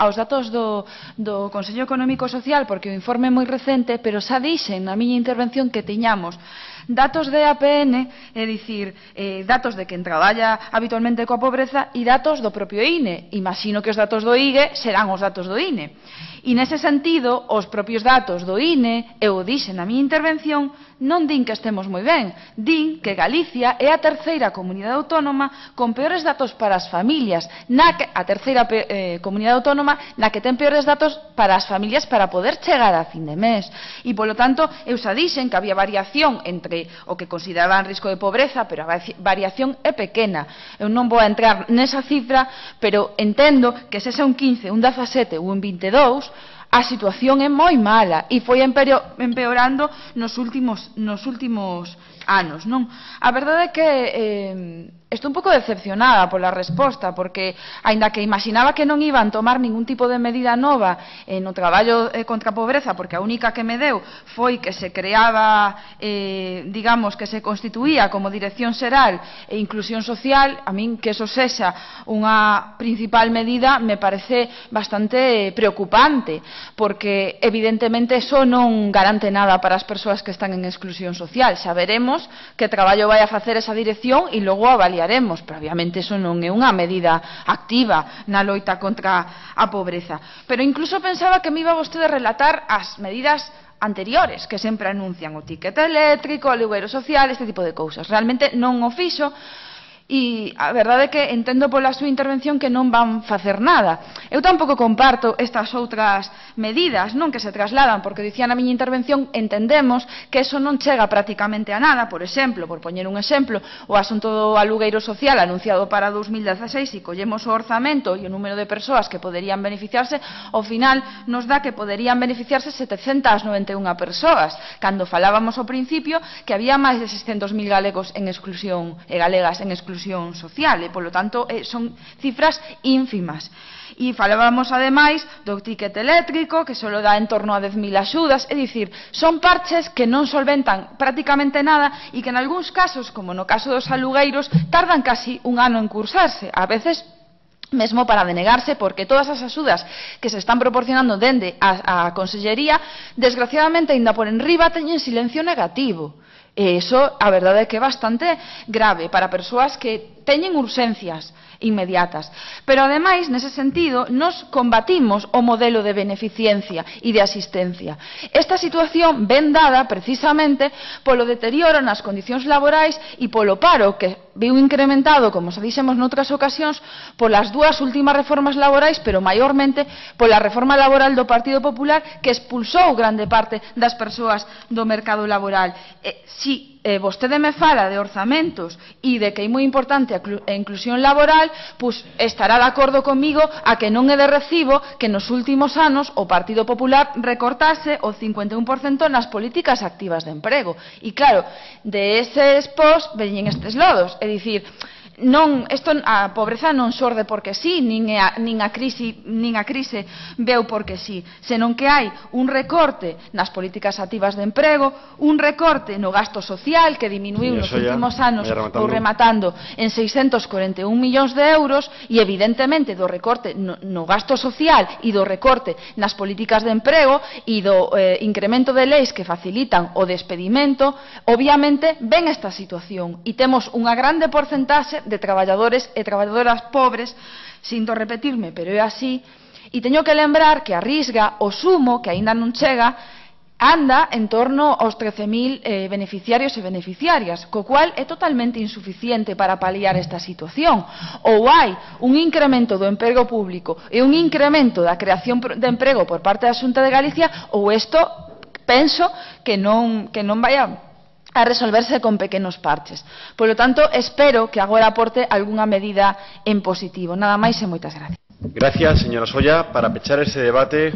aos datos do Consello Económico e Social, porque o informe é moi recente, pero xa dixen na miña intervención que tiñamos datos de APN, é dicir, datos de quen traballa habitualmente coa pobreza e datos do propio INE. Imagino que os datos do IGE serán os datos do INE. E nese sentido, os propios datos do INE, eu dixen na miña intervención, non din que estemos moi ben, din que Galicia é a terceira comunidade autónoma con peores datos para as familias, a terceira comunidade autónoma na que ten peores datos para as familias para poder chegar a fin de mes. E, polo tanto, eu xa dixen que había variación entre o que consideraban risco de pobreza, pero a variación é pequena. Eu non vou a entrar nesa cifra, pero entendo que se é un 15, un 17 ou un 22, a situación é moi mala e foi empeorando nos últimos anos, non? A verdade é que estou un pouco decepcionada pola resposta, porque, aínda que imaginaba que non iban tomar ningún tipo de medida nova no traballo contra a pobreza, porque a única que me deu foi que se creaba, digamos, que se constituía como Dirección Xeral e Inclusión Social, a min que eso sexa unha principal medida me parece bastante preocupante, porque, evidentemente, eso non garante nada para as persoas que están en exclusión social. Xa veremos que traballo vai a facer esa dirección e logo avaliaremos, pero obviamente eso non é unha medida activa na loita contra a pobreza. Pero incluso pensaba que me iba vostede a relatar as medidas anteriores que sempre anuncian, o ticket eléctrico, o alugueiro social, este tipo de cousas. Realmente non o fixo. E a verdade é que entendo pola súa intervención que non van facer nada. Eu tampouco comparto estas outras medidas, non, que se trasladan, porque dicía na miña intervención, entendemos que eso non chega prácticamente a nada. Por exemplo, por poñer un exemplo, o asunto do alugueiro social anunciado para 2016, e collemos o orzamento e o número de persoas que poderían beneficiarse, ao final nos dá que poderían beneficiarse 791 persoas, cando falábamos ao principio que había máis de 600.000 galegos en exclusión e galegas en exclusión social, e, polo tanto, son cifras ínfimas. E falábamos, ademais, do ticket eléctrico, que só dá en torno a 10.000 axudas, é dicir, son parches que non solventan prácticamente nada e que, en algúns casos, como no caso dos alugueiros, tardan casi un ano en cursarse, a veces mesmo para denegarse, porque todas as axudas que se están proporcionando dende a Consellería, desgraciadamente, ainda por enriba, teñen silencio negativo. E iso, a verdade é que é bastante grave para persoas que teñen urxencias inmediatas. Pero, ademais, nese sentido, nos combatimos o modelo de beneficencia e de asistencia. Esta situación ven dada, precisamente, polo deterioro nas condicións laborais e polo paro que viu incrementado, como xa dixemos noutras ocasións, polas dúas últimas reformas laborais, pero maiormente pola reforma laboral do Partido Popular, que expulsou grande parte das persoas do mercado laboral. Si vostede me fala de orzamentos e de que é moi importante a inclusión laboral, pois estará de acordo comigo a que non é de recibo que nos últimos anos o Partido Popular recortase o 51% nas políticas activas de emprego. E claro, de eses pos veñen estes lodos, é dicir, a pobreza non xorde porque sí, nin a crise veu porque sí, senón que hai un recorte nas políticas activas de emprego, un recorte no gasto social que diminuiu nos últimos anos, ou rematando, en 641 millóns de euros, e evidentemente do recorte no gasto social e do recorte nas políticas de emprego e do incremento de leis que facilitan o despedimento, obviamente ven esta situación e temos unha grande porcentaxe de traballadores e traballadoras pobres, sinto repetirme, pero é así, e teño que lembrar que a Risga, o sumo, que aínda non chega, anda en torno aos 13.000 beneficiarios e beneficiarias, co cual é totalmente insuficiente para paliar esta situación. Ou hai un incremento do emprego público e un incremento da creación de emprego por parte da Xunta de Galicia, ou isto penso que non vai a resolverse con pequenos parches. Polo tanto, espero que agora aporte algunha medida en positivo. Nada máis e moitas gracias. Gracias, señora Solla. Para pechar ese debate...